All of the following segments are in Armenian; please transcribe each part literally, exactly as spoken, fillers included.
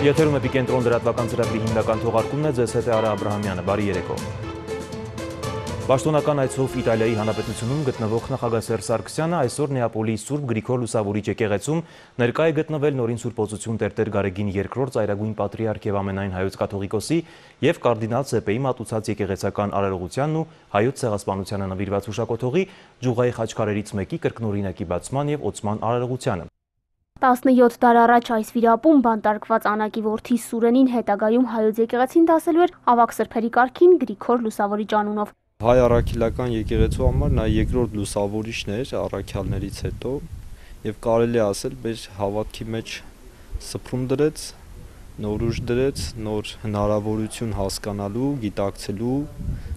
Եթերում Էպիկենտրոն լրատվական ծրագրի հիմնական թողարկումն է, ձեզ հետ է Արա Աբրահամյանը, բարի երեկո։ Պաշտոնական այցով Իտալիայի Հանրապետությունում գտնվող նախագահ Սերժ Սարգսյանը այսօր Նեապոլի Սուրբ Գրիգոր Լուսավորիչ եկեղեցում ներկա է գտնվել նորին Սուրբ Օծություն Տեր-Տեր Գարեգին երկրորդ ծայրագույն պատրիարք եւ ամենայն հայոց կաթողիկոսի եւ կարդինալ Սեպեի մատուցած եկեղեցական արարողությանն ու հայոց ցեղասպանությանը նվիրված հուշակոթողի Ջուղայի խաչքարերից մեկի կրկնօրինակի բացման եւ օծման արարողությանը։ տասնյոթ դար առաջ այս վիրապում բանտարկված Անակի որդի Սուրենին հետագայում հայոց եկեղեցին դասելու էր ավագ սրբերի կարգին Գրիգոր Լուսավորիչ անունով։ Հայ առաքելական եկեղեցու համար նա երկրորդ լուսավորիչն էր առաքյալներից հետո եւ կարելի է ասել մեր հավատքի մեջ սփռում դրեց, նոր ուժ դրեց, նոր հնարավորություն հասկանալու, գիտակցելու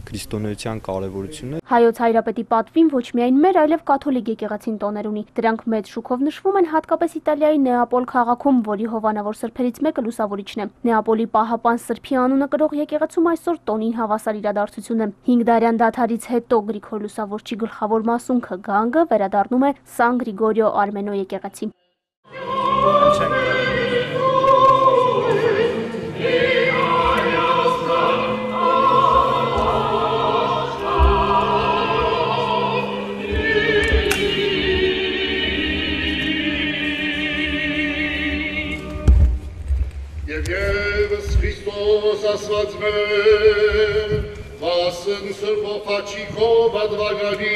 քրիստոնեության կարևորությունը։ Հայոց Հայրապետի պատվին ոչ միայն մեր, այլև կաթոլիկ եկեղեցին տոներ ունի։ Դրանք մեծ շուկով նշվում են հատկապես Իտալիայի Նեապոլ քաղաքում, որի հովանավոր սրբերից մեկը Լուսավորիչն է։ Նեապոլի Պահապան Սրբի անունը կրող եկեղեցում այսօր տոնին հավասար իրադարձություն է։ հինգ դարյան դադարից հետո Գրիգոր Լուսավորչի գլխավոր մասունքը գանգը վերադառնում է Սան Գրիգորիո Արմենո եկեղեցի։ Ասված մեր, վասն սրբով աչիքով ադվագանի։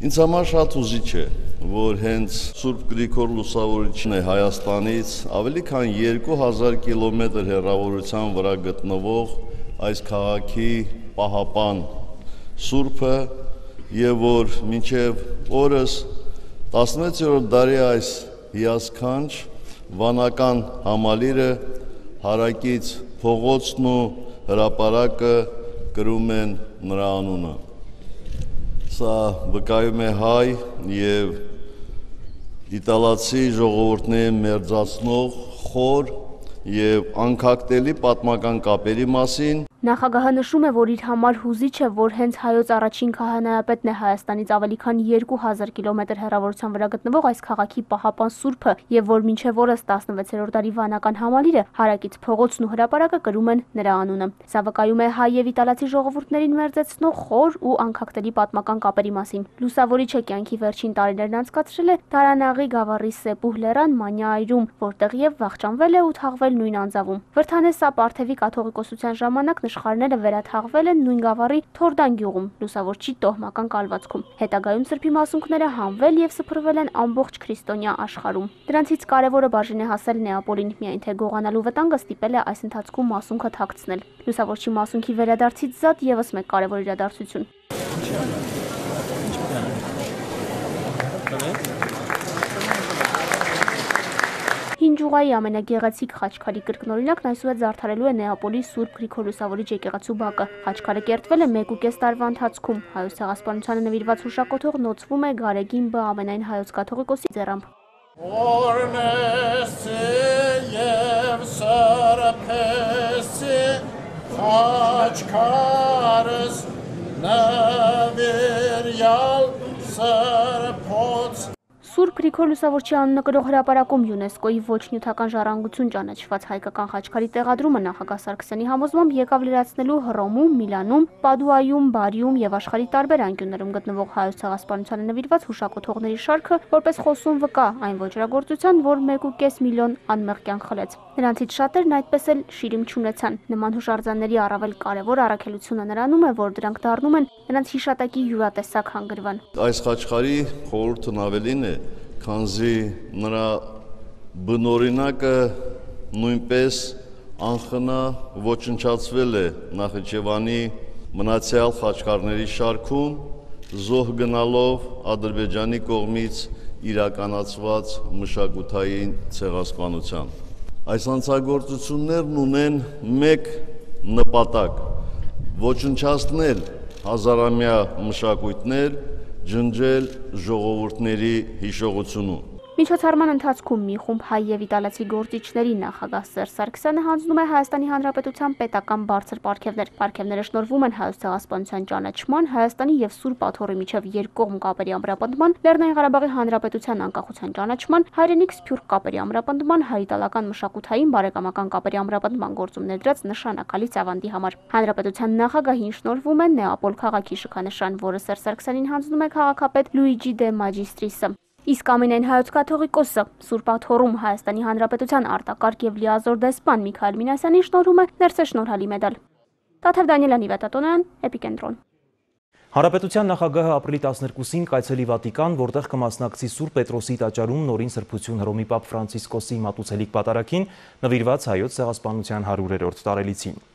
Ինձ համար շատ ուզիչ է, որ հենց Սուրբ Գրիգոր Լուսավորիչն է Հայաստանից ավելի քան երկու հազար կիլոմետր հեռավորության վրա գտնվող այս քաղաքի պահապան Սուրբը եւ որ մինչեւ օրս տասնվեցերորդ դարի այս հիասքանչ վանական համալիրը հարակից փողոցն ու հրապարակը կրում են նրա անունը։ Սա վկայում է հայ եւ իտալացի ժողովուրդների մերձացնող խոր եւ անկախտելի պատմական կապերի մասին։ Նախագահը նշում է, որ իր համար հուզիչ է, որ հենց հայոց առաջին քահանայապետն է Հայաստանից ավելի քան երկու հազար կիլոմետր հեռավորության վրա գտնվող այս քաղաքի պահապան Սուրբը եւ որ մինչեւ օրս տասնվեցերորդ դարի վանական համալիրը հարակից փողոցն ու հրապարակը կրում են նրա անունը։ Սա վկայում է հայ եւ իտալացի ժողովուրդներին մերձեցնող խոր ու անկախտելի պատմական կապերի մասին։ Լուսավորիչը կյանքի վերջին տարիներն անցկացրել է Դարանաղի գավառի Սեպուհ լեռան Մանյայրում, որտեղ եւ վախճանվել է ու թաղվել նույն անձավում։ Վրթանեսա Պարթևի կաթողիկոսության ժամանակ Նշխարները վերաթաղվել են նույն գավառի Թորդան գյուղում, Լուսավորչի տոհմական կալվածքում։ Հետագայում սրբի մասունքները հանվել եւ սփռվել են ամբողջ քրիստոնյա աշխարհում։ Դրանցից կարևորը բաժին է հասել Նեապոլին, միայն թե գողանալու վտանգը ստիպել է այս ընթացքում մասունքը թաքցնել։ Լուսավորչի մասունքի վերադարձից զատ եւս մեկ կարևոր իրադարձություն։ Հին Ջուղայի ամենագեղեցիկ խաչքարի կրկնօրինակն այսուհետ զարդարելու է Նեապոլի Սուրբ Գրիգոր Լուսավորիչ եկեղեցու բակը։ Խաչքարը կերտվել է մեկ ու կես տարվա ընթացքում։ Հայոց ցեղասպանությանը նվիրված հուշակոթող նոցվում է Գարեգին Բ ամենայն հայոց կաթողիկոսի ձեռամբ։ Սուրբ Գրիգոր Լուսավորչի անունը կրող հրապարակում ՅՈՒՆԵՍԿՕ-ի ոչ նյութական ժառանգություն ճանաչված հայկական խաչքարի տեղադրումը նախագահ Սարգսյանի համոզմամբ եկավ լրացնելու Հռոմում, Միլանում, Պադուայում, Բարիում եւ աշխարհի տարբեր անկյուններում գտնվող հայոց ցեղասպանությանը նվիրված հուշակոթողների շարքը, որպես խոսուն վկա այն ոճրագործության, որ մեկ ու կես միլիոն անմեղ կյանք խլեց։ Նրանցից շատերն այդպես էլ շիրիմ չունեցան։ Նման հուշարձանների առավել կարևոր առաքելությունը նրանում է, որ դրանք դառնում են նրանց հիշատակի յուրատեսակ հանգրվան։ Այս խաչքարի խորհուրդն ավելին է, քանզի նրա բնօրինակը նույնպես անխնա ոչնչացվել է Նախիջևանի մնացյալ խաչքարների շարքում, զոհ գնալով Ադրբեջանի կողմից իրականացված մշակութային ցեղասպանության։ Այս հանցագործություններն ունեն մեկ նպատակ՝ ոչնչացնել հազարամյա մշակույթներ, ջնջել ժողովուրդների հիշողությունը։ Միջոցառման ընթացքում մի խումբ հայ եւ իտալացի գործիչների նախագահ Սերժ Սարգսյանը հանձնում է Հայաստանի Հանրապետության պետական բարձր պարգևներ։ Պարգևները շնորհվում են Հայոց ցեղասպանության ճանաչման, Հայաստանի եւ Սուրբ Աթոռի միջև երկկողմ կապերի ամրապնդման, Լեռնային Ղարաբաղի Հանրապետության անկախության ճանաչման, հայրենիք սփյուռք կապերի ամրապնդման, հայ-իտալական մշակութային բարեկամական կապերի ամրապնդման գործում ներդրած նշանակալի ծավալի համար։ Հանրապետության նախագահին շնորհվում է Նեապոլ քաղաքի շքանշան, որը Սերժ Սարգսյանին հանձնում է քաղաքապետ Լուիջի դե Մաջիստրիսը։ Իսկ ամենայն հայոց կաթողիկոսը Սուրբ Աթոռում Հայաստանի Հանրապետության արտակարգ եւ լիազոր դեսպան Միքայել Մինասյանին շնորհում է ներսեշնորհալի մեդալ։ Տաթև Դանիելյանի Վետատոնյան, Էպիկենտրոն։ Հանրապետության նախագահը ապրիլի տասներկուսին կայցելի Վատիկան, որտեղ կմասնակցի Սուրբ Պետրոսի տաճարում նորին սրբություն Հռոմի Պապ Ֆրանցիսկոսի մատուցելիք պատարագին նվիրված հայոց ցեղասպանության հարյուրերորդ տարելիցին։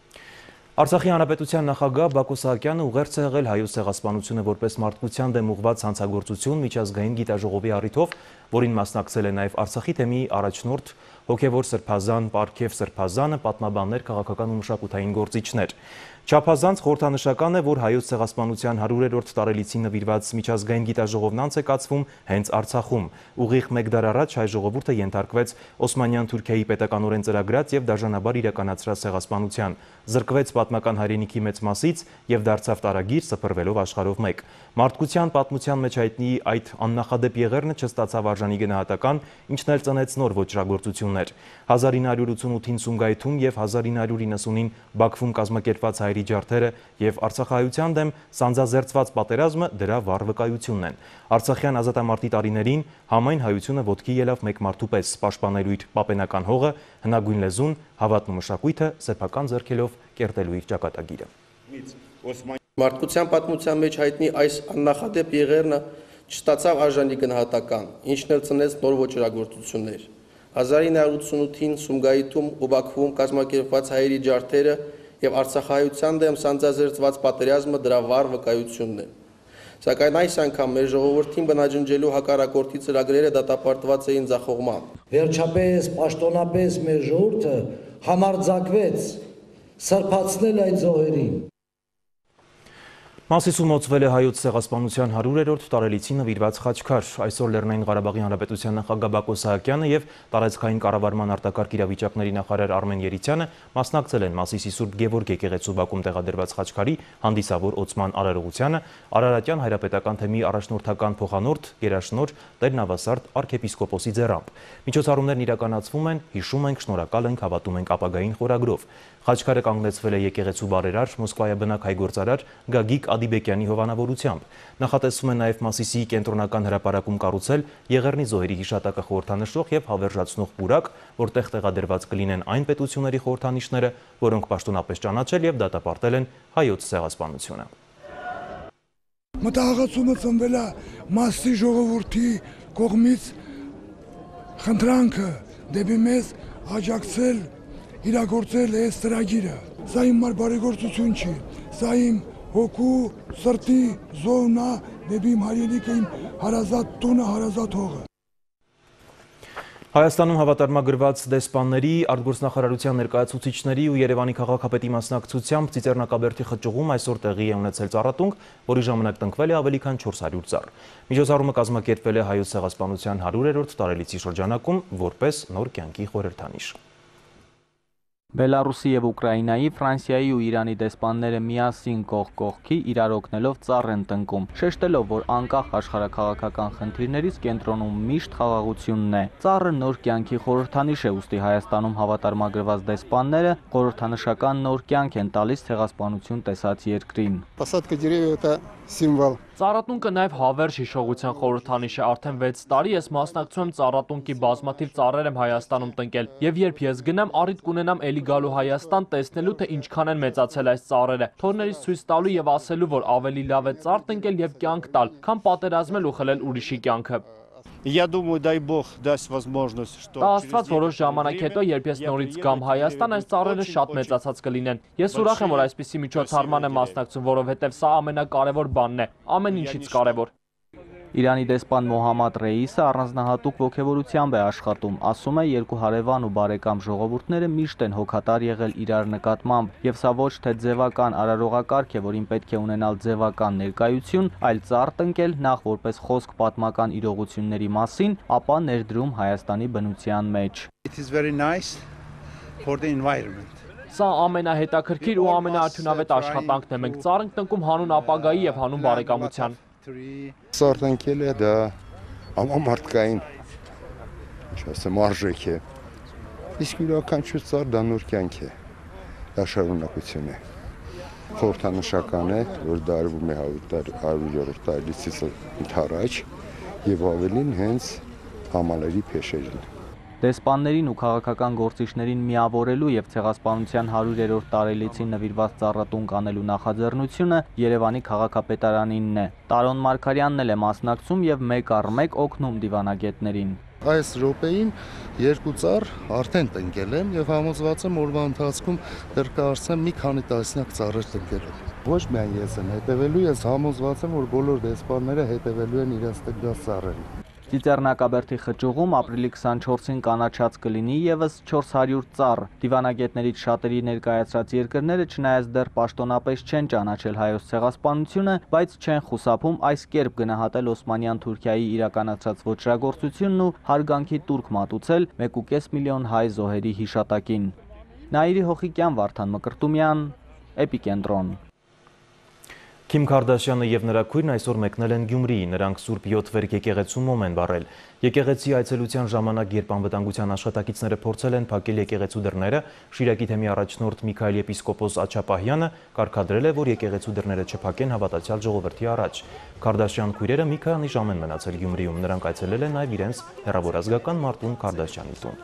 Արցախի Հանրապետության նախագահ Բակո Սահակյանը ուղերձ է եղել հայոց ցեղասպանությունը որպես մարդկության դեմ ուղղված հանցագործություն միջազգային գիտաժողովի առիթով, որին մասնակցել է նաև Արցախի թեմի առաջնորդ հոգևոր սրբազան Պարքև Սրբազանը, պատմաբաններ, քաղաքական ու մշակութային գործիչներ։ Չափազանց խորհրդանշական է, որ հայոց ցեղասպանության հարյուրերորդ տարելիցին նվիրված միջազգային գիտաժողովն անց է կացվում հենց Արցախում։ Ուղիղ մեկ դար առաջ հայ ժողովուրդը ենթարկվեց Օսմանյան Թուրքիայի պետականորեն ծրագրած եւ դաժանաբար իրականացրած ցեղասպանության, զրկվեց պատմական հայրենիքի մեծ մասից եւ դարձավ տարագիր սփռվելով աշխարհով մեկ։ Մարդկության պատմության մեջ հայտնի այդ աննախադեպ եղերնը չստացավ արժանի գնահատական, ինչն էլ ծնեց նոր ոճրագործություններ։ հազար ինը հարյուր ութսունութին Սումգայիթում եւ հազար ինը հարյուր իննսունին Բաքվում կազմակերպված հայերի ջարդերը եւ արցախահայության դեմ սանձազերծված պատերազմը դրա վառ վկայությունն են։ Արցախյան ազատամարտի տարիներին համայն հայությունը ոտքի ելավ մեկ մարդու պես, պաշտպանելու իր պապենական հողը, հնագույն լեզուն, հավատն ու մշակույթը, սեփական ձեռքերով կերտելու իր ճակատագիրը։ Մարդկության պատմության մեջ հայտնի այս աննախադեպ եղերնը չստացավ արժանի գնահատական, ինչն էլ ծնեց նոր ոճրագործություններ։ հազար ինը հարյուր ութսունութին Սումգայիթում ու Բաքվում կազմակերպված հայերի ջարդերը եւ արցախահայության դեմ սանձազերծված պատերազմը դրա վառ վկայությունն է։ Սակայն այս անգամ մեր ժողովրդին բնաջնջելու հակառակորդի ծրագրերը դատապարտված էին ձախողմամբ։ Վերջապես պաշտոնապես մեր ժողովուրդը համարձակվեց սրբացնել այդ զոհերին։ Մասիսում մոծվել է հայոց ցեղասպանության հարյուրերորդ տարելիցին նվիրված խաչքար։ Այսօր Լեռնային Ղարաբաղի Հանրապետության նախագահ Բակո Սահակյանը եւ տարածքային կառավարման արտակարգ իրավիճակների նախարար Արմեն Երիցյանը մասնակցել են Մասիսի Սուրբ Գևորգ եկեղեցու բակում տեղադրված խաչքարի հանդիսավոր օծման արարողությանը, Արարատյան հայրապետական թեմի առաջնորդական փոխանորդ Գերաշնոր Տեր Նավասարդ arczepiskopos-ի ձեռամբ։ Միջոցառումներն իրականացվում են, հիշում ենք, շնորհակալ ենք, հավատում ենք ապագային խորագրով։ Խաչքարը կանգնեցվել է եկեղեցու բարերար Մոսկվայաբնակ հայ գործարար Գագիկ Ադիբեկյանի հովանավորությամբ։ Նախատեսվում է նաև Մասիսի կենտրոնական հրապարակում կառուցել Եղեռնի զոհերի հիշատակը խորհրդանշող եւ հավերժացնող պուրակ, որտեղ տեղադրված կլինեն այն պետությունների խորհրդանիշները, որոնք պաշտոնապես ճանաչել եւ դատապարտել են հայոց ցեղասպանությունը։ Մտահղացումը ծնվել է Մասիսի ժողովրդի կողմից խնդրանքը դեպի մեզ աջակցել իրագործել այս ծրագիրը։ Սա իմ բարեգործություն չի, սա իմ հոգու, սրտի զոհն է դեպի իմ հայրենիքը, իմ հարազատ տունը, հարազատ հողը։ Հայաստանում հավատարմագրված դեսպանների, արտգործնախարարության ներկայացուցիչների ու Երևանի քաղաքապետի մասնակցությամբ Ծիծեռնակաբերդի խճուղում այսօր տեղի է ունեցել ծառատունք, որի ժամանակ տնկվել է ավելի քան չորս հարյուր ծառ։ Միջոցառումը կազմակերպվել է հայոց ցեղասպանության հարյուրերորդ տարելիցի շրջանակում որպես նոր կյանքի խորհրդանիշ։ Բելարուսի եւ Ուկրաինայի, Ֆրանսիայի ու Իրանի դեսպանները միասին կողք կողքի իրար օգնելով ծառ են տնկում, շեշտելով, որ անկախ աշխարհաքաղաքական խնդիրներից կենտրոնում միշտ խաղաղությունն է։ Ծառը նոր կյանքի խորհրդանիշ է, ուստի Հայաստանում հավատարմագրված դեսպանները խորհրդանշական նոր կյանք են տալիս ցեղասպանություն տեսած երկրին։ Посадка деревьев это символ. Ծառատունկը նաև հավերժ հիշողության խորհրդանիշ է, արդեն վեց տարի ես մասնակցում եմ ծառատունկի բազմաթիվ ծառեր եմ Հայաստանում տնկել, եւ երբ ես գնամ, առիթ կունենամ էլի գալու Հայաստան տեսնելու, թե ինչքան են մեծացել այս ծառերը, թորներից ցույց տալու եւ ասելու, որ ավելի լավ է ծառ տնկել եւ կյանք տալ, քան պատերազմել ու խլել ուրիշի կյանքը։ Я думаю, дай Бог даст возможность, что Դա աստված որոշ ժամանակ հետո, երբ ես նորից գամ Հայաստան, այս ծառերը շատ մեծացած կլինեն։ Ես ուրախ եմ, որ այսպիսի միջոցառման եմ մասնակցում, որովհետև սա ամենակարևոր բանն է, ամեն ինչից կարևոր։ Իրանի դեսպան Մոհամմադ Ռեյիսը առանձնահատուկ ոգևորությամբ է աշխատում, ասում է երկու հարևան ու բարեկամ ժողովուրդները միշտ են հոգատար եղել իրար նկատմամբ, եւ սա ոչ թե ձևական արարողակարգ է, որին պետք է ունենալ ձևական ներկայություն, այլ ծառ տնկել նախ որպես խոսք պատմական իրողությունների մասին, ապա ներդրում Հայաստանի բնության մեջ։ It is very nice for the environment. Սա ամենահետաքրքիր ու ամենաարդյունավետ աշխատանքն է, մենք ծառ ենք տնկում հանուն ապագայի եւ հանուն բարեկամության։ Ծառ տնկելը դա համամարտկային, ինչ ասեմ, արժեք է, իսկ յուրաքանչյուր ծառ դա նոր կյանք է, դա շարունակություն է, խորհրդանշական է, որ դա արվում է հարյուրերորդ տարելիցից ընդառաջ եւ ավելին հենց համալերի փեշերին։ Դեսպաններին ու քաղաքական գործիչներին միավորելու եւ ցեղասպանության հարյուրերորդ տարելիցին նվիրված ծառատուն կանելու նախաձեռնությունը Երևանի քաղաքապետարանինն է։ Տարոն Մարգարյանն էլ է մասնակցում եւ մեկ առ մեկ օգնում դիվանագետներին։ Այս րոպեին երկու ծառ արդեն տնկել եմ եւ համոզված եմ օրվա ընթացքում դեռ կարծեմ մի քանի տասնյակ ծառեր տնկելու։ Ոչ միայն ես եմ հետևելու, ես համոզված եմ, որ բոլոր դեսպանները հետևելու են իրենց տնկած ծառերին։ Ծիծեռնակաբերդի խճուղում ապրիլի քսանչորսին կանաչած կլինի եւս չորս հարյուր ծառ։ Դիվանագետներից շատերի ներկայացրած երկրները չնայած դեռ պաշտոնապես չեն ճանաչել հայոց ցեղասպանությունը, բայց չեն խուսափում այս կերպ գնահատել Օսմանյան Թուրքիայի իրականացրած ոճրագործությունն ու հարգանքի տուրք մատուցել մեկ ու կես միլիոն հայ զոհերի հիշատակին։ Նաիրի Հոխիկյան, Վարդան Մկրտումյան, Էպիկենտրոն։ Քիմ Քարդաշյանը եւ նրա քույրն այսօր մեկնել են Գյումրի, նրանք Սուրբ յոթ վերք եկեղեցու մոմ են վառել։ Եկեղեցի այցելության ժամանակ, երբ անվտանգության աշխատակիցները փորձել են փակել եկեղեցու դռները, Շիրակի թեմի առաջնորդ Միքայել եպիսկոպոս Աչապահյանը կարգադրել է, որ եկեղեցու դռները չփակեն հավատացյալ ժողովրդի առաջ։ Քարդաշյան քույրերը մի քանի ժամ են մնացել Գյումրիում, նրանք այցելել են նաեւ իրենց հեռավորազգական Մարտուն Քարդաշյանի տուն։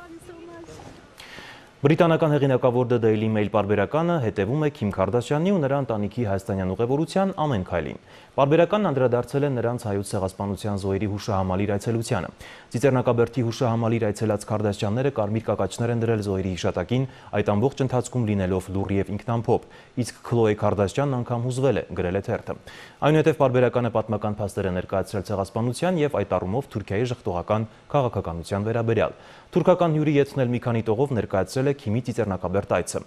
Բրիտանական հեղինակավոր The Daily Mail պարբերականը հետևում է Քիմ Քարդաշյանի ու նրա ընտանիքի հայաստանյան ուղևորության ամեն քայլին։ Պարբերականն անդրադարձել է նրանց հայոց ցեղասպանության զոհերի հուշահամալիր այցելությանը։ Ծիծեռնակաբերդի հուշահամալիր այցելած Քարդաշյանները կարմիր կակաչներ են դրել զոհերի հիշատակին, այդ ամբողջ ընթացքում լինելով լուռ եւ ինքնամփոփ, իսկ Քլոե Քարդաշյանն անգամ հուզվել է, գրել է թերթը։ Այնուհետև պարբերականը պատմական փաստեր է ներկայացրել ցեղասպանության եւ այդ առումով Թուրքիայի ժխտողական քաղաքականության վերաբերյալ։ Թուրքական հյուրի եթնել մի քանի տողով ներկայացրել է Քիմի ծիծեռնակաբերդ այցը։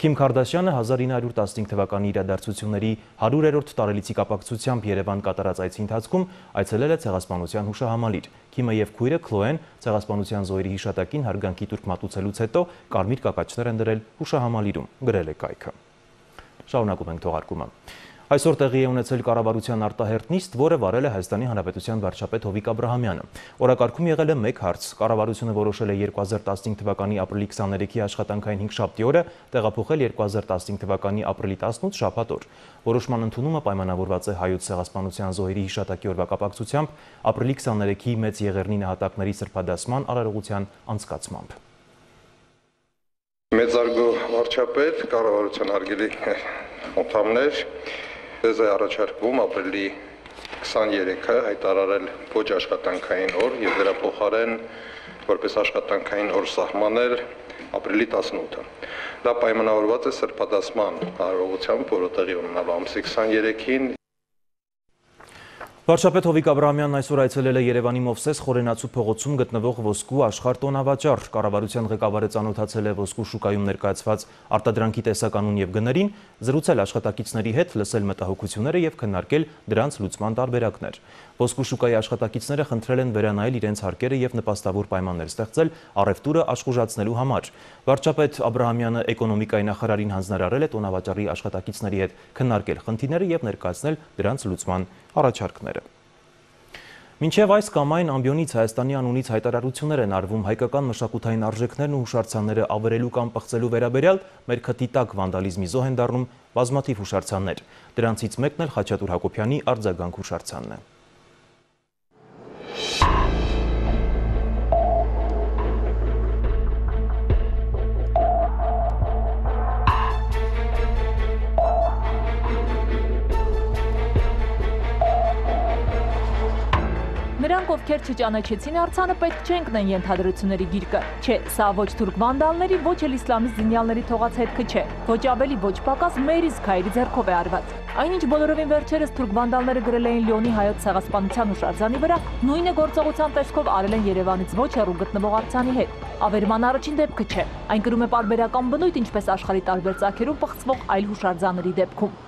Քիմ Քարդաշյանը հազար ինը հարյուր տասնհինգ թվականի իրադարձությունների հարյուրերորդ տարելիցի կապակցությամբ Երևան կատարած այցի ընթացքում այցելել է ցեղասպանության հուշահամալիր։ Քիմը եւ քույրը Քլոեն ցեղասպանության զոհերի հիշատակին հարգանքի տուրք մատուցելուց հետո կարմիր կակաչներ են դրել հուշահամալիրում, գրել է կայքը։ Շարունակում ենք թողարկումը։ Այսօր տեղի է ունեցել կառավարության արտահերթ նիստ, որը վարել է Հայաստանի Հանրապետության վարչապետ Հովիկ Աբրահամյանը։ Օրակարգում եղել է մեկ հարց։ Կառավարությունը որոշել է երկու հազար տասնհինգ թվականի ապրիլի քսաներեքի աշխատանքային հինգշաբթի օրը տեղափոխել երկու հազար տասնհինգ թվականի ապրիլի տասնութ շաբաթ օր։ Որոշման ընդունումը պայմանավորված է հայոց ցեղասպանության զոհերի հիշատակի օրվա կապակցությամբ ապրիլի քսաներեքի մեծ Եղեռնի նահատակների սրբադասման արարողության անցկացմամբ։ Մեծարգո վարչապետ, կառավարության հարգելի անդամներ, Ձեզ է առաջարկվում ապրիլի քսաներեքը հայտարարել ոչ աշխատանքային օր եւ դրա փոխարեն որպես աշխատանքային օր սահմանել ապրիլի տասնութը։ Դա պայմանավորված է սրբադասման արարողությամբ, որը տեղի ունենալու ամսի քսաներեքին։ Վարչապետ Հովիկ Աբրահամյանն այսօր այցելել է Երևանի Մովսես Խորենացու փողոցում գտնվող ոսկու աշխարհ տոնավաճառ։ Կառավարության ղեկավարը ծանոթացել է ոսկու շուկայում ներկայացված արտադրանքի տեսականուն եւ գներին, զրուցել աշխատակիցների հետ, լսել մտահոգությունները եւ քննարկել դրանց լուծման տարբերակներ։ Ոսկու շուկայի աշխատակիցները խնդրել են վերանայել իրենց հարկերը եւ նպաստավոր պայմաններ ստեղծել առևտուրը աշխուժացնելու համար։ Վարչապետ Աբրահամյանը էկոնոմիկայի նախարարին հանձնարարել է տոնավաճառի աշխատակիցների հետ քննարկել խնդիրները եւ ներկայացնել դրանց լուծման առաջարկները։ Մինչև այս կամ այն ամբիոնից Հայաստանի անունից հայտարարություններ են արվում հայկական մշակութային արժեքներն ու հուշարձանները ավերելու կամ պղծելու վերաբերյալ, մեր քթի տակ վանդալիզմի զոհ են դառնում բազմաթիվ հուշարձաններ։ Դրանցից մեկն էլ Խաչատուր Հակոբյանի արձագանք հուշարձանն է։ Նրա Նրանք, ովքեր չճանաչեցին արձանը, պետք չէ ընկնեն ենթադրությունների գիրկը։ Չէ, սա ոչ թուրք վանդալների, ոչ էլ իսլամիստ զինյալների թողած հետքը չէ։ Ոչ ավելի, ոչ պակաս մեր իսկ հայերի ձեռքով է արված։ Այնինչ բոլորովին վերջերս թուրք վանդալները գրել էին Լիոնի հայոց ցեղասպանության հուշարձանի վրա, նույնը գործողության տեսքով արել են Երևանից ոչ հեռու գտնվող արձանի հետ։ Ավերման առաջին դեպքը չէ։ Այն կրում է պարբերական բնույթ, ինչպես աշխարհի տարբեր ծագերում պղծվող այլ հուշարձանների դեպքում։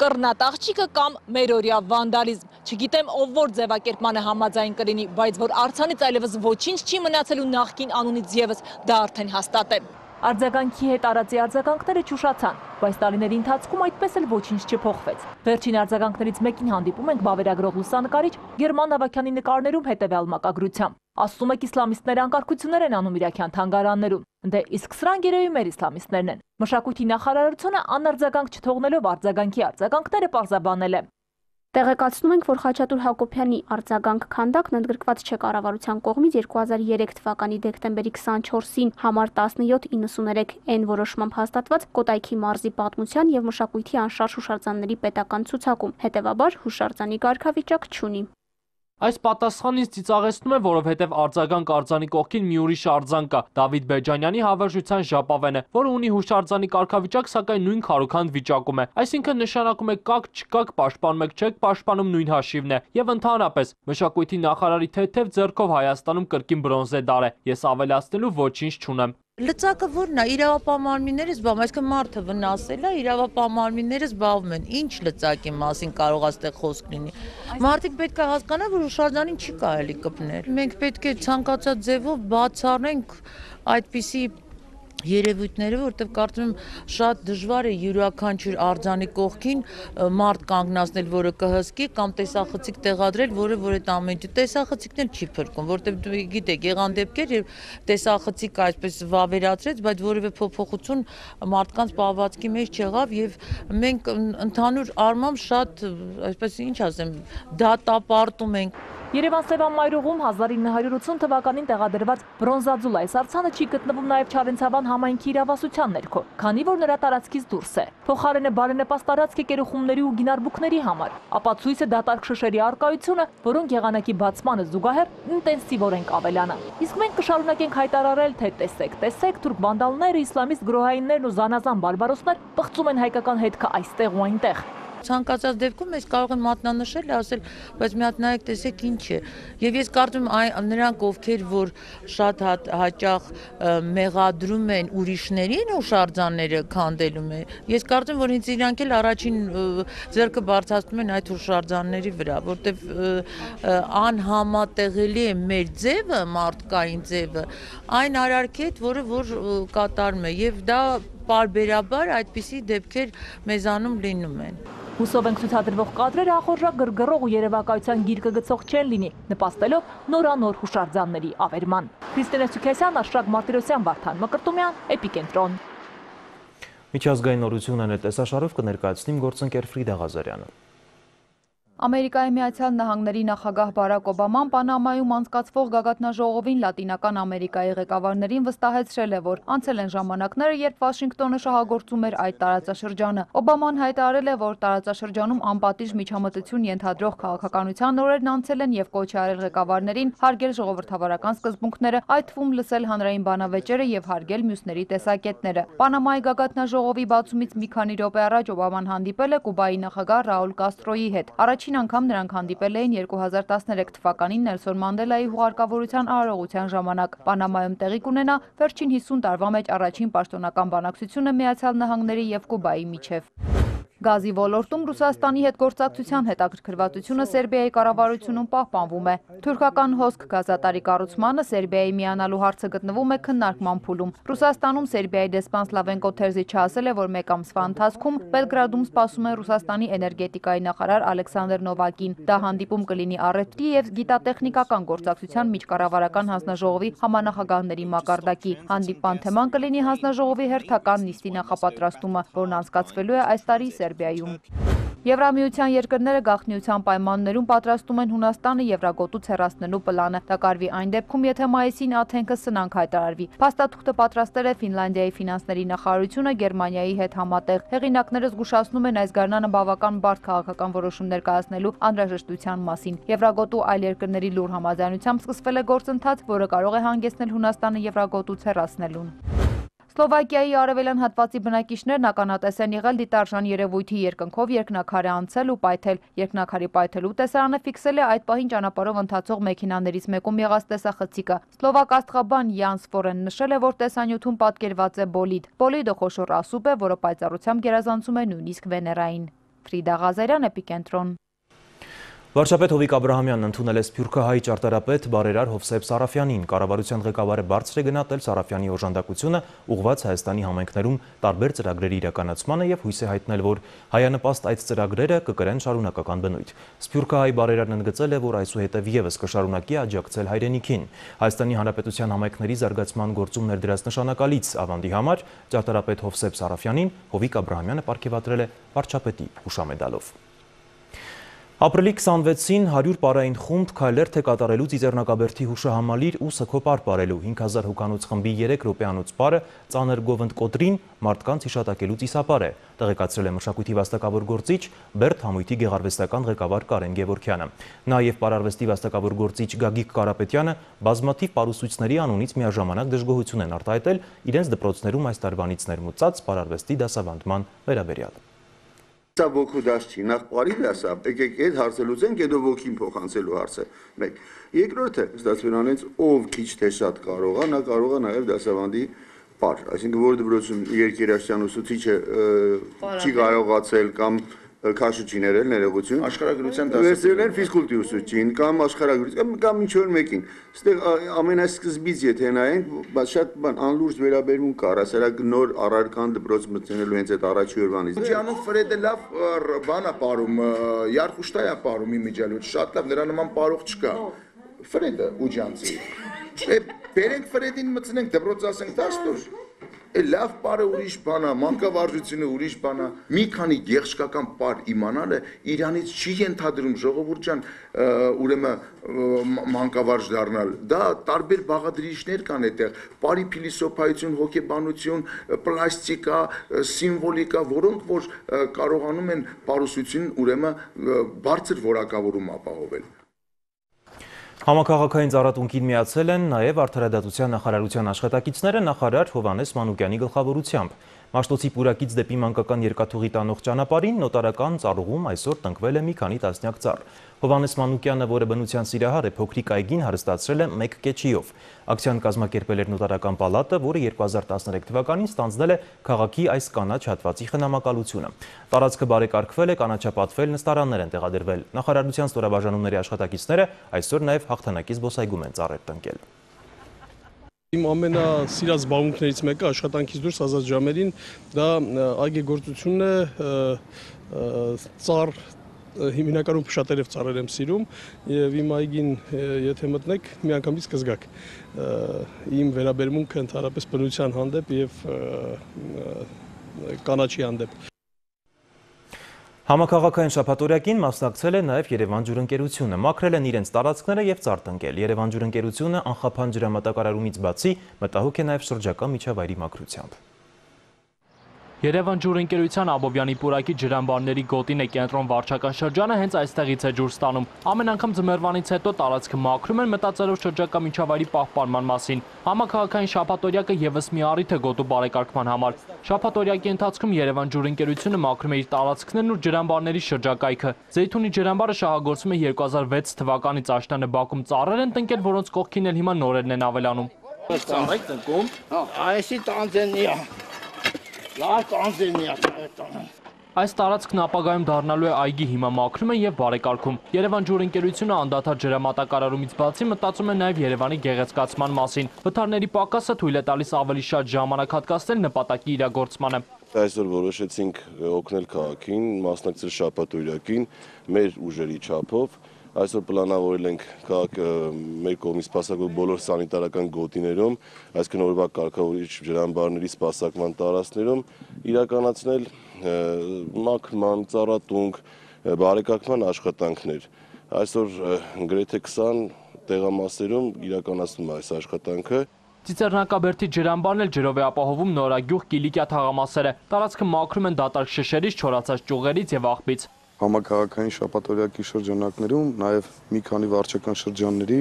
Կռնատաղջիկը կամ մերօրյա վանդալիզմ։ Չգիտեմ, ով որ ձևակերպմանը համաձայն կլինի, բայց որ արձանից այլևս ոչինչ չի մնացելու նախկին անունից եւս, դա արդեն հաստատ է։ Արձագանքի հետ արածի արձագանքները չուշացան, բայց տարիների ընթացքում այդպես էլ ոչինչ չփոխվեց։ Վերջին արձագանքներից մեկին հանդիպում ենք վավերագրող լուսանկարիչ Գերման Ավագյանի նկարներում հետևյալ մակագրությամբ։ Ասում եք իսլամիստները անկարգություններ են անում իրաքյան թանգարաններում։ Դե իսկ սրանք երևի մեր իսլամիստներն են։ Մշակույթի նախարարությունը անարձագանք չթողնելով արձագանքի արձագանքները պարզաբանել է։ Տեղեկացնում ենք, որ Խաչատուր Հակոբյանի արձագանք քանդակն ընդգրկված չէ կառավարության կողմից երկու հազար երեք թվականի դեկտեմբերի քսանչորսին համար տասնյոթ իննսուներեք N որոշմամբ հաստատված Կոտայքի մարզի պատմության եւ մշակույթի անշարժ հուշարձանների պետական ցուցակում, հետեւաբար հուշարձանի կարգավիճակ չունի։ Այս պատասխանից ծիծաղեցնում է, որովհետև արձագանք արձանի կողքին մի ուրիշ արձան կա՝ Դավիթ Բեջանյանի հավերժության ժապավենը, որը ունի հուշարձանի կարգավիճակ, սակայն նույն քարոքանդ վիճակում է։ Այսինքն նշանակում է կաք չկաք, պաշտպանում եք չեք պաշտպանում նույն հաշիվն է։ Եվ ընդհանրապես մշակույթի նախարարի թեթև ձեռքով Հայաստանում կրկին բրոնզե դար է։ Ես ավելացնելու ոչինչ չունեմ։ Լծակը որն է, իրավապահ մարմինները զբաղվում, այսինքն մարդը վնասել է, իրավապահ մարմինները զբաղվում են, ինչ լծակի մասին կարող այստեղ խոսք լինի։ Մարդիկ պետք է հասկանան, որ հուշարձանին չի կարելի կպնել։ Մենք պետք է ցանկացած ձևով բացառենք այդպիսի երևույթները, որտեղ կարծում եմ շատ դժվար է յուրաքանչյուր արձանի կողքին մարդ կանգնացնել, որը կհսկի կամ տեսախցիկ տեղադրել, որը որ այդ ամենը տեսախցիկն էլ չի փրկում, որտեղ գիտեք, եղան դեպքեր, երբ տեսախցիկը այսպես վավերացրեց, բայց որևէ փոփոխություն մարդկանց պահվածքի մեջ չեղավ եւ մենք ընդհանուր առմամբ շատ, այսպես ինչ ասեմ, դատապարտում ենք։ Երևան Սևան-Մայրուղում հազար ինը հարյուր ութսուն թվականին տեղադրված բրոնզաձուլ այս արձանը չի գտնվում նաև Չարենցավան համայնքի իրավասության ներքո, քանի որ նրա տարածքից դուրս է։ Փոխարենը բարենպաստ տարածք է կերուխումների ու գինարբուքների համար, ապացույց է դատարկ շշերի առկայությունը, որոնք եղանակի բացմանը զուգահեռ ինտենսիվորեն կավելանա։ Իսկ մենք կշարունակենք հայտարարել, թե տեսեք, տեսեք, թուրք վանդալները, իսլամիստ գրոհայիններն ու զանազան բարբարոսներ պղծում են հայկական հետքը այստեղ ու այնտեղ։ Ցանկացած դեպքում mēs կարող ենք մատնանշել, ասել, բայց մի հատ նայեք, տեսեք ինչ է։ Եվ ես կարծում եմ նրանք, ովքեր որ շատ հաճախ մեղադրում են ուրիշներին հուշարձանները քանդելում է, ես կարծում եմ, որ ինձ իրանք էլ առաջին ձեռքը բարձրացնում են այդ հուշարձանների վրա, որտեվ անհամատեղելի է մեր ձևը, մարդկային ձևը, այն արարքի հետ, որը որ կատարում է, եւ դա պարբերաբար այդպիսի դեպքեր մեզանում լինում են։ Հուսով ենք ցուցադրվող կադրերը ախորժակ գրգռող ու երևակայության գիրկը գցող չեն լինի, նպաստելով նորանոր հուշարձանների ավերման։ Քրիստինե Սուքեսյան, Աշրակ Մարտիրոսյան, Վարդան Մկրտումյան, Էպիկենտրոն։ Միջազգային նորությունն է տեսաշարով կներկայացնիմ գործընկեր Ֆրիդա Ղազարյանը։ Ամերիկայի Միացյալ Նահանգների նախագահ Բարակ Օբաման Պանամայում անցկացվող գագաթնաժողովին Լատինական Ամերիկայի ղեկավարներին վստահեցրել է, որ անցել են ժամանակները, երբ Վաշինգտոնը շահագործում էր այդ տարածաշրջանը։ Օբաման հայտարարել է, որ տարածաշրջանում անպատիժ միջամտություն ենթադրող քաղաքականության օրերն անցել են եւ կոչ է արել ղեկավարներին հարգել ժողովրդավարական սկզբունքները, այդ թվում լսել հանրային բանավեճերը եւ հարգել մյուսների տեսակետները։ Պանամայի գագաթնաժողովի բացումից մի քանի րոպե առաջ Օբաման հանդիպել է Կուբայի նախագահ Ռաուլ Կաստրոյի հետ։ Առաջին անգամ նրանք հանդիպել էին երկու հազար տասներեք թվականին Նելսոն Մանդելայի հուղարկավորության արարողության ժամանակ։ Պանամայում տեղի կունենա վերջին հիսուն տարվա մեջ առաջին պաշտոնական բանակցությունը Միացյալ Նահանգների եւ Կուբայի միջև։ Գազի ոլորտում Ռուսաստանի հետ գործակցության հետաքրքրվածությունը Սերբիայի կառավարությունում պահպանվում է։ Թուրքական հոսք գազատարի կառուցմանը Սերբիայի միանալու հարցը գտնվում է քննարկման փուլում։ Ռուսաստանում Սերբիայի դեսպան Սլավենկո Թերզիչը ասել է, որ մեկ ամսվա ընթացքում Բելգրադում սպասում է Ռուսաստանի էներգետիկայի նախարար Ալեքսանդր Նովակին։ Դա հանդիպում կլինի առևտրի եւ գիտատեխնիկական գործակցության միջկառավարական հանձնաժողովի համանախագահների մակարդակի։ Հանդիպման թեման կլինի հանձնաժողովի հերթական նիստի նախապատրաստումը, որն անցկացվելու է այս տարի Սերբիայում։ Եվրամիության երկրները գաղտնիության պայմաններում պատրաստում են Հունաստանը Եվրագոտուց հեռացնելու պլանը։ Դա կարվի այն դեպքում, եթե մայիսին Աթենքը սնանկ հայտարարվի։ Փաստաթուղթը պատրաստել է Ֆինլանդիայի ֆինանսների նախարարությունը Գերմանիայի հետ համատեղ։ Հեղինակները զգուշացնում են այս գարնանը բավական բարդ քաղաքական որոշումներ կայացնելու անհրաժեշտության մասին։ Եվրագոտու այլ երկրների լուր համաձայնությամբ սկսվել է գործընթաց, որը կարող է հանգեցնել Հունաստանը Եվրագոտուց հեռացնելուն։ Սլովակիայի արևելյան հատվածի բնակիչներն ականատես են եղել դիտարժան երևույթի երկնքով երկնաքար է անցել ու պայթել։ Երկնաքարի պայթելու տեսարանը ֆիքսել է այդ պահին ճանապարհով ընթացող մեքենաներից մեկում եղած տեսախցիկը։ Սլովակ աստղաբան Յանս Ֆորեն նշել է, որ տեսանյութում պատկերված է բոլիդ։ Բոլիդը խոշոր ասուբ է, որը պայծառությամբ գերազանցում է նույնիսկ Վեներային։ Ֆրիդա Ղազարյան, Էպիկենտրոն։ Վարչապետ Հովիկ Աբրահամյանն ընդունել է սփյուռքահայ ճարտարապետ բարերար Հովսեփ Սարաֆյանին։ Կառավարության ղեկավարը բարձր է գնահատել Սարաֆյանի օժանդակությունը ուղղված Հայաստանի համայնքներում տարբեր ծրագրերի իրականացմանը եւ հույս է հայտնել, որ հայանպաստ այդ ծրագրերը կկրեն շարունակական բնույթ։ Սփյուռքահայ բարերարն ընդգծել է, որ այսուհետև եւս կշարունակի աջակցել հայրենիքին։ Հայաստանի Հանրապետության համայնքների զարգացման գործում ներդրած նշանակալից ավանդի համար ճարտարապետ Հովսեփ Սարաֆյանին Հովիկ Աբրահամյանը պարգևատրել է վարչապետի հուշամեդալով։ Ապրիլի քսանվեցին հարյուր պարային խումբ քայլերթ է կատարելու Ծիծեռնակաբերդի հուշահամալիր ու սգո պարպարելու հինգ հազար հոգանոց խմբի երեք րոպեանոց պարը ծանր գովընդ կոտրին մարդկանց հիշատակելու ծիսապար է, տեղեկացրել է մշակույթի վաստակավոր գործիչ Բերդ համույթի գեղարվեստական ղեկավար Կարեն Գևորգյանը։ Նաև պարարվեստի վաստակավոր գործիչ Գագիկ Կարապետյանը բազմաթիվ պարուսույցների անունից միաժամանակ դժգոհություն են արտահայտել իրենց դպրոցներում այս տարվանից ներմուծած պարարվեստի դասավանդման վերաբերյալ։ Սա ոգու դաս չի, նախ պարի դասա, եկեք այդ հարցը լուծենք, հետո ոգին փոխանցելու հարցը։ Մեկ։ Երկրորդը, ստացվելանից ով քիչ թե շատ կարող է, նա կարող է նաև դասավանդի պար, այսինքն որ դպրոցում երկերաշտյան ուսուցիչը չի կարողացել կամ քաշը չի ներել ներողություն, աշխարհագրության դասը ֆիզկուլտուրի ուսուցիչին կամ աշխարհագրություն կամ ինչ որ մեկին։ Այստեղ ամենասկզբից եթե նայենք, շատ բան անլուրջ վերաբերմունք կար, ասարակ նոր առարկան դպրոց մտնելու հենց այդ առաջի օրվանից։ Ջանով Ֆրեդը լավ բան է ապարում, Յարխուշտայ է ապարում իմիջիալոց, շատ լավ, նրա նման պարող չկա։ Ֆրեդը Ուջանցի։ Բերենք Ֆրեդին մտնենք դպրոց ասենք դաստուր։ Լավ պարը ուրիշ բան է, մանկավարժությունը ուրիշ բան է, մի քանի գեղշկական պար իմանալը իրանից չի ենթադրում ժողովուրդ ջան, ուրեմն մանկավարժ դառնալ։ Դա տարբեր բաղադրիչներ կան այդտեղ, պարի փիլիսոփայություն, հոգեբանություն, պլաստիկա, սիմվոլիկա, որոնք որ կարողանում են պարուսություն ուրեմն բարձր որակավորում ապահովել։ Համակարգային ծառատունկին միացել են նաև Արդարադատության նախարարության աշխատակիցները նախարար Հովհաննես Մանուկյանի գլխավորությամբ։ Մաշտոցի պուրակից դեպի մանկական երկաթուղի տանող ճանապարհին նոտարական ծառուղում այսօր տնկվել է մի քանի տասնյակ ծառ։ Հովհաննես Մանուկյանը, որը բնության սիրահար է, փոքրիկ այգին հարստացրել է մեկ կեչիով։ Ակցիան կազմակերպել էր նոտարական պալատը, որը երկու հազար տասներեք թվականին ստանձնել է քաղաքի այս կանաչ հատվածի խնամակալությունը։ Տարածքը բարեկարգվել է, կանաչապատվել, նստարաններ են տեղադրվել։ Նախարարության ստորաբաժանումների աշխատակիցները այսօր նաև հաղթանակի զբոսայգում են ծառեր տնկել։ Իմ ամենասիրած զբաղմունքներից մեկը աշխատանքից դուրս ազատ ժամերին դա այգեգործությունն է, ծառ հիմնականում փշատերև ծառեր եմ սիրում եւ իմ այգին եթե մտնեք միանգամից կզգաք իմ վերաբերմունքը ընդհանրապես բնության հանդեպ եւ կանաչի հանդեպ։ Համակարգային շաբաթօրյակին մասնակցել է նաև Երևան ջուրընկերությունը, մաքրել են իրենց տարածքները եւ ծառ տնկել։ Երևան ջուրընկերությունը անխափան ջրամատակարարումից բացի մտահոգ է նաև շրջակա միջավայրի մաքրությամբ։ Երևան ջուրընկերության Աբովյանի պուրակի ջրամբարների գոտին է կենտրոն վարչական շրջանը հենց այստեղից է ջուր ստանում։ Ամեն անգամ ձմեռվանից հետո տարածքը մաքրում են մտածելով շրջակա միջավայրի պահպանման մասին։ Համակարգային շաբաթօրյակը եւս մի առիթ է գոտու բարեկարգման համար։ Շաբաթօրյակի ընթացքում Երևան ջուրընկերությունը մաքրում է իր տարածքներն ու ջրամբարների շրջակայքը։ Զեյթունի ջրամբարը շահագործվում է երկու հազար վեց թվականից աշնանը Բաքում ծառեր են տնկել, որոնց կողքին էլ հիմա նորերն են ավելանում։ Ծառայք տնկում, այսի տանձենիա Այս տարածքն ապագայում դառնալու է այգի, հիմա մաքրում են եւ բարեկարգում։ Երևան ջուրընկերությունը անդադար ջրամատակարարումից բացի մտածում է նաեւ Երևանի գեղեցկացման մասին։ Վթարների պակասը թույլ է տալիս ավելի շատ ժամանակ հատկացնել նպատակի իրագործմանը։ Այսօր որոշեցինք օգնել քաղաքին, մասնակցել շաբաթօրյակին մեր ուժերի չափով, Այսօր պլանավորել ենք քաղաքը մեր կողմից սպասարկել բոլոր սանիտարական գոտիներում, այսինքն օրվա կարգավորիչ ջրամբարների սպասարկման տարածքներում իրականացնել մաքրման, ծառատունք, բարեկարգման աշխատանքներ։ Այսօր գրեթե քսան տեղամասերում իրականացնում է այս աշխատանքը։ Ծիծեռնակաբերդի ջրամբարն էլ ջրով է ապահովում նորագյուղ Կիլիկիա թաղամասերը։ Տարածքը մաքրում են դատարկ շշերից, չորացած ճյուղերից եւ աղբից։ Համակարգային շաբաթօրյակի շրջանակներում, նաև մի քանի վարչական շրջանների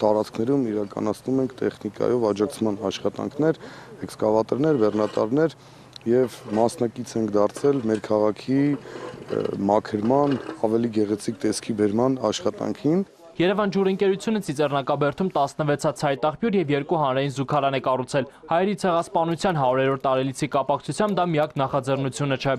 տարածքներում իրականացնում ենք տեխնիկայով աջակցման աշխատանքներ, էքսկավատորներ, բեռնատարներ եւ մասնակից ենք դարձել մեր քաղաքի մաքրման, ավելի գեղեցիկ տեսքի բերման աշխատանքին։ Երևան ջուրընկերությունը Ծիծեռնակաբերդում տասնվեցած ցայտաղբյուր եւ երկու հանրային զուգարան է կառուցել։ Հայերի ցեղասպանության հարյուրերորդ տարելիցի կապակցությամբ դա միակ նախաձեռնությունը չէ։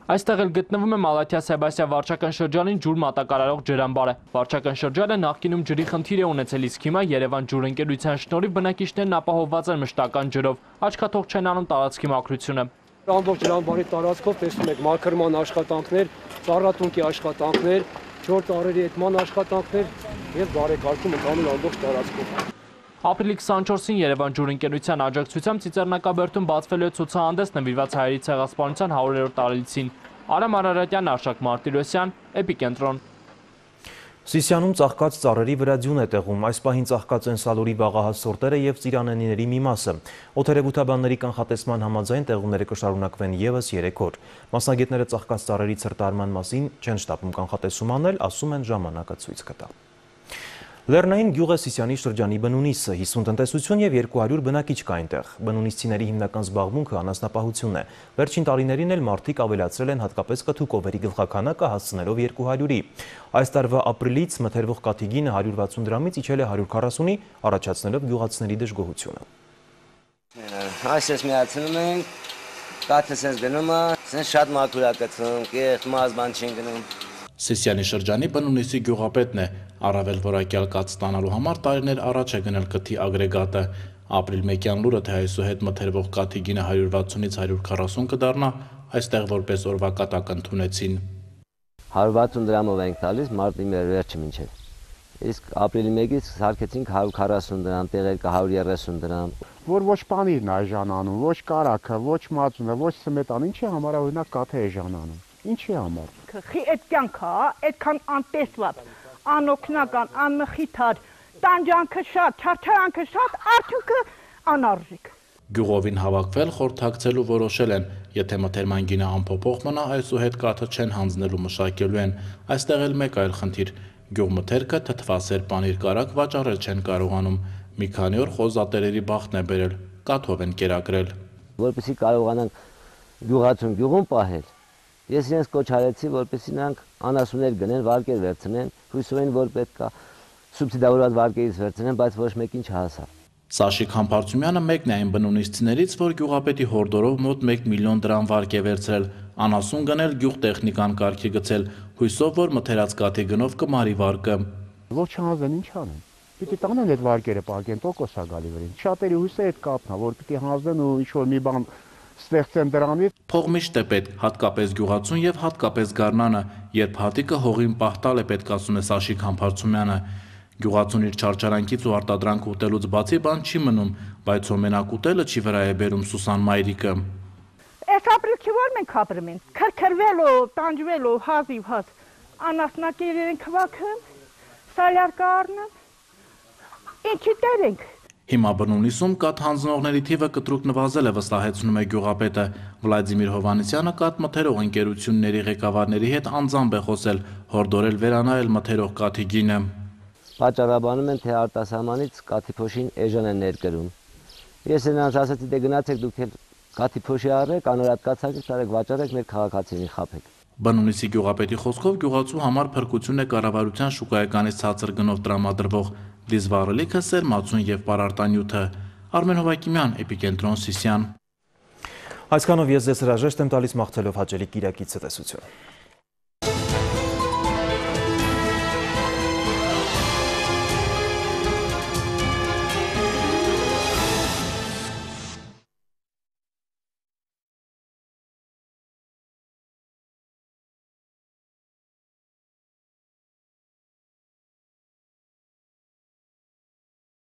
Այստեղ էլ գտնվում է Մալաթիա-Սեբաստիա վարչական շրջանին ջուր մատակարարող ջրամբարը։ Վարչական շրջանը նախկինում ջրի խնդիր է ունեցել, իսկ հիմա Երևան ջուրընկերության շնորհիվ բնակիչներն ապահովված են մշտական ջրով։ Աչքաթող չեն անում տարածքի մաքրությունը։ Ամբողջ ջրամբարի տարածքով տեսնում եք մաքրման աշխատանքներ, ծառատունքի աշխատանքներ, ջուր ծառերի էտման աշխատանքներ եւ բարեկարգում ընկանում ամբողջ տարածքով։ Ապրիլի քսանչորսին Երևան ջուրընկերության աջակցությամբ Ծիծեռնակաբերդում բացվելու է ցուցահանդես նվիրված հայերի ցեղասպանության հարյուրերորդ տարելիցին։ Արամ Արարատյան, Արշակ Մարտիրոսյան, Էպիկենտրոն։ Սիսիանում ծաղկած ծառերի վրա ձյուն է տեղում, այս պահին ծաղկած են սալորի վաղահաս սորտերը և ծիրանենիների մի մասը։ Օդերևութաբանների կանխատեսման համաձայն տեղումները կշարունակվեն ևս երեք օր։ Մասնագետները ծաղկած ծառերի ցրտարման մասին չեն շտապում կանխատեսում անել, ասում են ժամանակը ցույց կտա։ Լեռնային գյուղ է Սիսիանի շրջանի բնունիսը, հիսուն տնտեսություն և երկու հարյուր բնակիչ կա այնտեղ։ Բնունիսցիների հիմնական զբաղմունքը անասնապահությունն է։ Վերջին տարիներին էլ մարդիկ ավելացրել են հատկապես կթուկովերի գլխաքանակը հասցնելով երկու հարյուրի։ Այս տարվա ապրիլից մթերվող կաթի գինը հարյուր վաթսուն դրամից իջել է հարյուր քառասունի, առաջացնելով գյուղացիների դժգոհությունը։ Այսպես միացնում ենք, կաթը սենց գնում է, սենց շատ մաքուր է գցում, կեղտ մազ բան չեն գնում։ Սիսիանի շրջանի բնունիսի գյուղապետն է, առավել որակյալ կաթ ստանալու համար տարիներ առաջ է գնել կթի ագրեգատը։ Ապրիլ մեկյան լուրը, թե այսուհետ մթերվող կաթի գինը հարյուր վաթսունից հարյուր քառասուն կդառնա, այստեղ որպես օրվա կատակ ընդունեցին։ հարյուր վաթսուն դրամով ենք տալիս մարտի վերջը մինչև։ Իսկ ապրիլի մեկից սարքեցինք հարյուր քառասուն դրամ, տեղեր կա հարյուր երեսուն դրամ։ Որ ոչ պանիրն է էժանանում, ոչ կարագը, ոչ մածունը, ոչ սմետան, ինչի համար է օրինակ կաթը էժանանում։ Ինչի համար։ Խի այդ կյանքը, այդքան անտեսված, անօգնական, անմխիթար, տանջանքը շատ, չարչարանքը շատ, արդյունքը անարժեք։ Գյուղովին հավաքվել խորհրդակցելու որոշել են, եթե մթերման գինը անփոփոխ մնա, այսուհետ կաթը չեն հանձնելու մշակելու են։ Այստեղ էլ մեկ այլ խնդիր։ Գյուղմթերքը թթվասեր պանիր կարագ վաճառել չեն կարողանում։ Մի քանի օր խոզատերերի բախտն է բերել, կաթով են կերակրել։ Որպեսզի կարողանանք գյուղացուն գյուղում պահել, ես իրենց կոչ արեցի, որպեսզի նրանք անասուններ գնեն, վարկեր վերցնեն, հույսով են, որ պետք է սուբսիդավորված վարկերից վերցնեն, բայց ոչ մեկին չհասավ։ Սաշիկ Համբարձումյանը մեկն է այն բնունիսցիներից, որ գյուղապետի հորդորով մոտ մեկ միլիոն դրամ վարկ է վերցրել, անասուն գնել, գյուղ տեխնիկան կարգի գցել, հույսով, որ մթերած կաթի գնով կմարի վարկը։ Որ չհանձեն, ինչ անեն։ Պիտի տանեն այդ վարկերը պահեն, տոկոս է գալի վրին։ Շատերի հույսը այդ կապն է, որ պիտի հանձնեն ու ինչ-որ մի բան ստեղծեն դրանից։ Փող միշտ է պետք, հատկապես գյուղացուն եւ հատկապես գարնանը, երբ հատիկը հողին պահտալ է պետք, ասում է Սաշիկ Համբարձումյանը։ Գյուղացուն իր չարչարանքից ու արտադրանք ուտելուց բացի բան չի մնում, բայց մենակ ուտելը չի վրա է բերում Սուսան Մայրիկը։ Այս ապրիլքի որ մենք ապրում ենք, քրքրվելով, տանջվելով, հազիվ հազ, անասնակերեն քվաքն, սալյարկը առնեն, ինչի տեր ենք։ Հիմա բնունիսում կաթ հանձնողների թիվը կտրուկ նվազել է, վստահեցնում է գյուղապետը։ Վլադիմիր Հովհաննիսյանը կաթ մթերող ընկերությունների ղեկավարների հետ անձամբ է խոսել, հորդորել վերանայել մթերող կաթի գինը։ Պատճառաբանում են, թե արտասահմանից կաթի փոշին էժան են ներկրում։ Ես նրանց ասացի, դե գնացեք դուք էլ կաթի փոշի առեք, անորատ կացակ տարեք, վաճառեք, մեր քաղաքացիներին խաբեք։ Բնունիսի գյուղապետի խոսքով գյուղացու համար փրկություն է կառավարության շուկայականից ցածր գնով տրամադրվող դիզվառելիքը, սերմացուն եւ պարարտանյութը։ Արմեն Հովակիմյան, Էպիկենտրոն, Սիսիան։ Այսքանով ես ձեզ հրաժեշտ եմ տալիս, մաղթելով հաճելի կիրակի ցտեսություն։